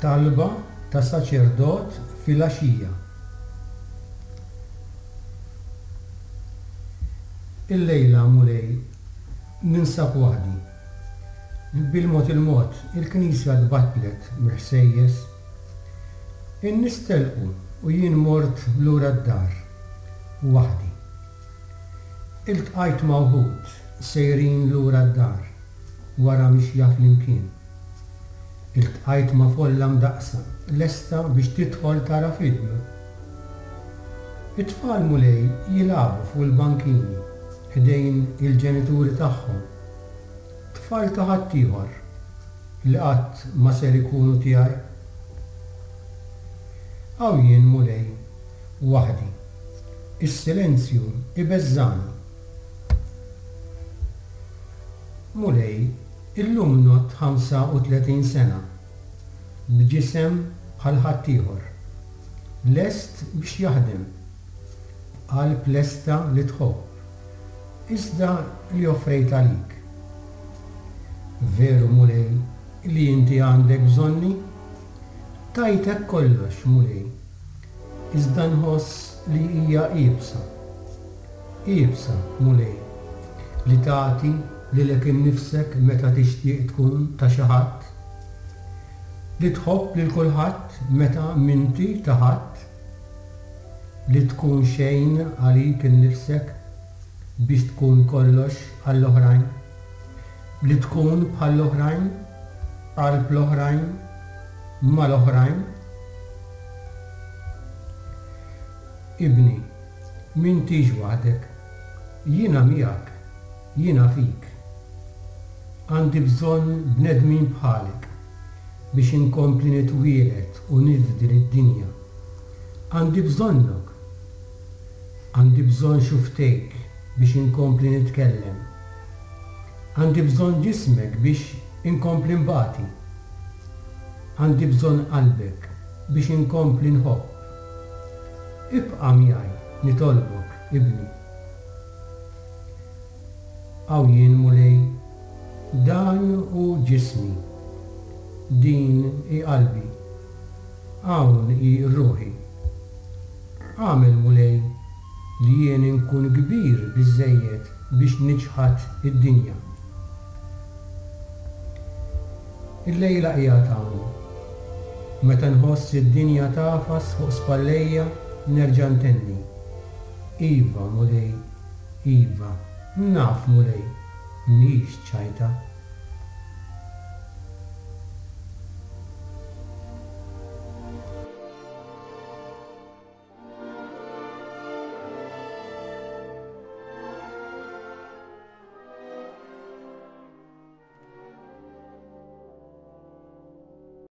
Talba ta' saċerdot filgħaxija. Illejla, Mulej, ninsab waħdi. Bil-mod il-mod, il-knisja tbattlet mill-ħsejjes. In-nies telqu u jien mort lura d-dar, waħdi. Iltqajt ma' wħud sejrin lura d-dar wara mixja flimkien. Iltqajt ma' folla mdaqqsa lesta biex tidħol tara film. It-tfal Mulej jilagħbu fuq il-bankini ħdejn il-ġenituri tagħhom. Tfal ta' ħaddieħor li qatt ma ser ikunu tiegħi. Hawn jien Mulej, waħdi. Is-silenzju ibeżżagħni. Mulej, illum ngħodd 35 sena, b'ġisem bħal ħaddieħor, lest biex jaħdem, b'qalb lesta li tħobb, iżda li offrejt għalik. Veru, Mulej, li inti għandek bżonni? Tajtek kollox, Mulej, iżda nħoss li hija iebsa. Iebsa, Mulej, li tagħti lilek innifsek meta tixtieq tkun ta' xi ħadd. Li tħobb lil kulħadd meta m'inti ta' ħadd. Li tkun xejn għalik innifsek biex tkun kollox għall-oħrajn. Li tkun bħall-oħrajn, qalb l-oħrajn, mal-oħrajn. Ibni, m'intix waħdek. Jiena miegħek, jiena fik. Għandi bżonn bnedmin bħalek biex inkompli nitwieled u nifdi lid-dinja. Għandi bżonnok. Għandi bżonn xufftejk biex inkompli nitkellem. Għandi bżonn ġismek biex inkompli nbati. Għandi bżonn qalbek biex inkompli nħobb. Ibqa' miegħi, nitolbok, ibni. Hawn jien, Mulej, dan hu ġismi, din hi qalbi, hawn hi ruħi. Agħmel, Mulej, li jien inkun kbir biżżejjed biex niċħad id-dinja. Illejla qiegħed hawn. Meta nħoss id-dinja tagħfas fuq spallejja nerġa' ntenni, Iva, Mulej, iva, naf, Mulej, mhix ċajta.